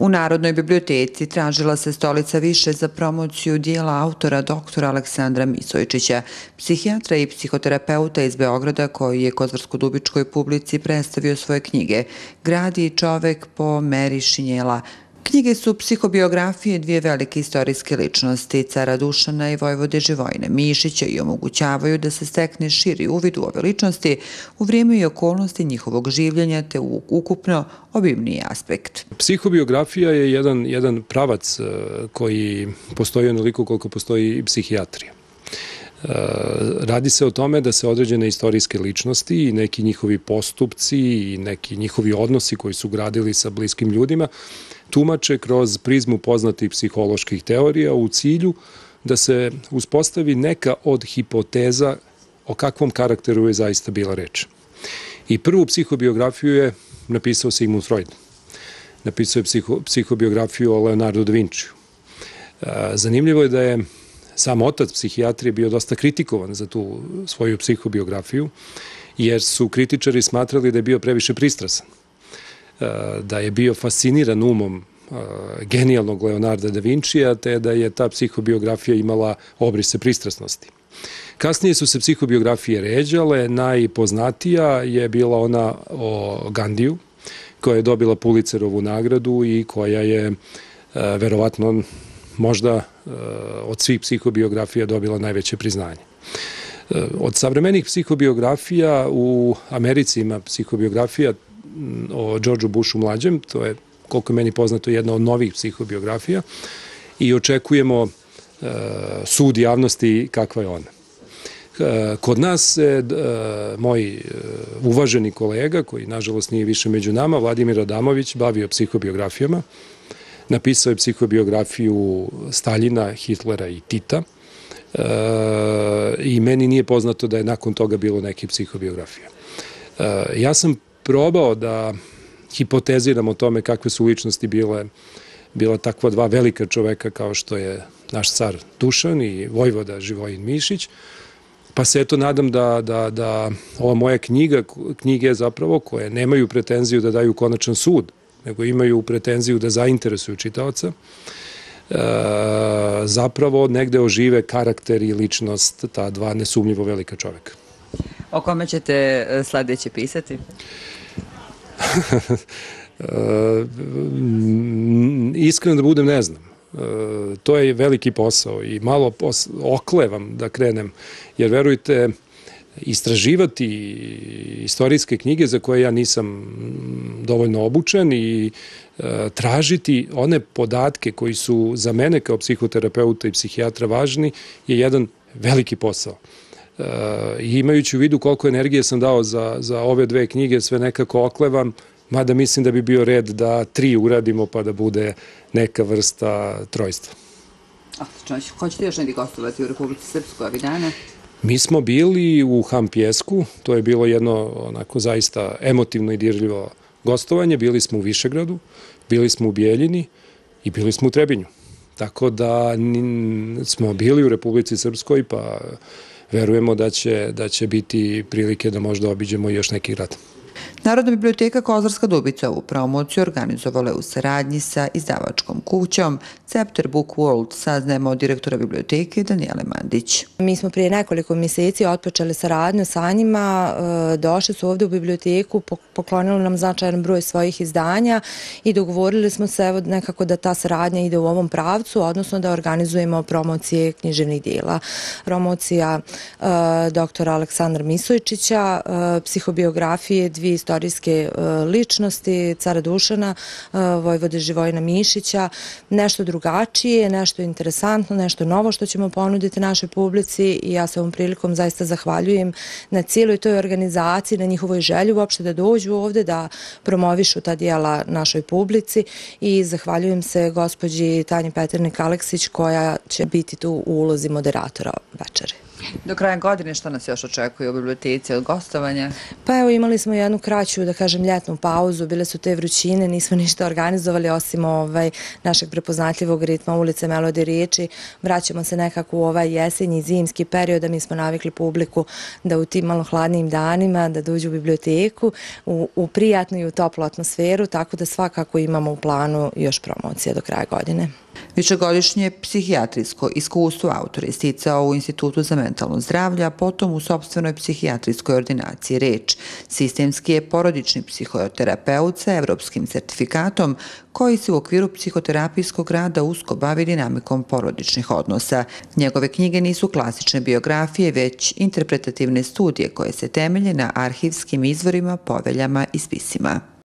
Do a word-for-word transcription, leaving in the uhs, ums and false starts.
U Narodnoj biblioteci tražila se stolica više za promociju dijela autora doktora Aleksandra Misojčića, psihijatra i psihoterapeuta iz Beograda koji je kozarsko-dubičkoj publici predstavio svoje knjige Grad i čovek po meri šinjela. Knjige su psihobiografije dvije velike istorijske ličnosti, cara Dušana i vojvode Živojina Mišića, i omogućavaju da se stekne širi uvid u ove ličnosti u vrijeme i okolnosti njihovog življenja te u ukupno obimniji aspekt. Psihobiografija je jedan, jedan pravac koji postoji onoliko koliko postoji i psihijatrija. Radi se o tome da se određene istorijske ličnosti i neki njihovi postupci i neki njihovi odnosi koji su gradili sa bliskim ljudima tumače kroz prizmu poznatih psiholoških teorija u cilju da se uspostavi neka od hipoteza o kakvom karakteru je zaista bila reč. I prvu psihobiografiju je napisao Sigmund Freud. Napisao je psiho, psihobiografiju o Leonardo da Vinčiju. Zanimljivo je da je sam otac psihijatrije bio dosta kritikovan za tu svoju psihobiografiju, jer su kritičari smatrali da je bio previše pristrasan, da je bio fasciniran umom genijalnog Leonarda da Vinčija, te da je ta psihobiografija imala obrise pristrasnosti. Kasnije su se psihobiografije ređale, najpoznatija je bila ona o Gandiju, koja je dobila Pulitzerovu nagradu i koja je verovatno možda od svih psihobiografija dobila najveće priznanje. Od savremenih psihobiografija u Americi ima psihobiografija o Georgeu Bushu mlađem, to je, koliko je meni poznato, jedna od novih psihobiografija i očekujemo sud javnosti kakva je ona. Kod nas se moj uvaženi kolega, koji nažalost nije više među nama, Vladimir Adamović, bavio psihobiografijama. Napisao je psihobiografiju Staljina, Hitlera i Tita i meni nije poznato da je nakon toga bilo neke psihobiografije. Ja sam probao da hipoteziram o tome kakve su ličnosti bile, bila takva dva velika čoveka kao što je naš car Dušan i vojvoda Živojin Mišić, pa se eto nadam da, da, da ova moja knjiga, knjige zapravo koje nemaju pretenziju da daju konačan sud, nego imaju pretenziju da zainteresuju čitaoca, e, zapravo negde ožive karakter i ličnost ta dva nesumnjivo velika čoveka. O kome ćete sledeće pisati? Iskreno da budem, ne znam. To je veliki posao i malo oklevam da krenem, jer verujte, istraživati istorijske knjige za koje ja nisam dovoljno obučen i tražiti one podatke koji su za mene kao psihoterapeuta i psihijatra važni je jedan veliki posao. I imajući u vidu koliko energije sam dao za, za ove dve knjige, sve nekako oklevam, mada mislim da bi bio red da tri uradimo pa da bude neka vrsta trojstva. Hoćete još negdje gostovati u Republici Srpskoj ovih dana? Mi smo bili u Hampjesku, to je bilo jedno onako zaista emotivno i dirljivo gostovanje, bili smo u Višegradu, bili smo u Bijeljini i bili smo u Trebinju. Tako da smo bili u Republici Srpskoj, pa verujemo da će, da će biti prilike da možda obiđemo još neki grad. Narodna biblioteka Kozarska Dubica ovu promociju organizovala je u saradnji sa izdavačkom kućom Cepter Book World, saznajemo od direktora biblioteke Danijele Mandić. Mi smo prije nekoliko mjeseci otpočeli saradnju sa njima, došli su ovdje u biblioteku, poklonili nam značajan broj svojih izdanja i dogovorili smo se evo nekako da ta saradnja ide u ovom pravcu, odnosno da organizujemo promocije književnih dijela. Promocija doktora Aleksandra Misojčića, psihobiografije dvije istorijske ličnosti, cara Dušana, vojvode Živojina Mišića, nešto drugačije, nešto interesantno, nešto novo što ćemo ponuditi našoj publici i ja se ovom prilikom zaista zahvaljujem na cijeloj toj organizaciji, na njihovoj želji uopšte da dođu ovdje, da promovišu ta dijela našoj publici i zahvaljujem se gospođi Tanji Peternik Aleksić koja će biti tu u ulozi moderatora večere. Do kraja godine što nas još očekuje u biblioteci od gostovanja? Pa evo, imali smo jednu kraću, da kažem, ljetnu pauzu, bile su te vrućine, nismo ništa organizovali osim ovaj, našeg prepoznatljivog ritma ulice, melodije, riječi. Vraćamo se nekako u ovaj jesenji, zimski period, da mi smo navikli publiku da u tim malo hladnijim danima da dođu u biblioteku, u, u prijatnu i u toplu atmosferu, tako da svakako imamo u planu još promocije do kraja godine. Višegodišnje psihijatrijsko iskustvo autor je sticao u Institutu za mentalno zdravlje, a potom u sopstvenoj psihijatrijskoj ordinaciji Reč. Sistemski je porodični psihoterapeut sa evropskim sertifikatom koji se u okviru psihoterapijskog rada usko bavi dinamikom porodičnih odnosa. Njegove knjige nisu klasične biografije, već interpretativne studije koje se temelje na arhivskim izvorima, poveljama i spisima.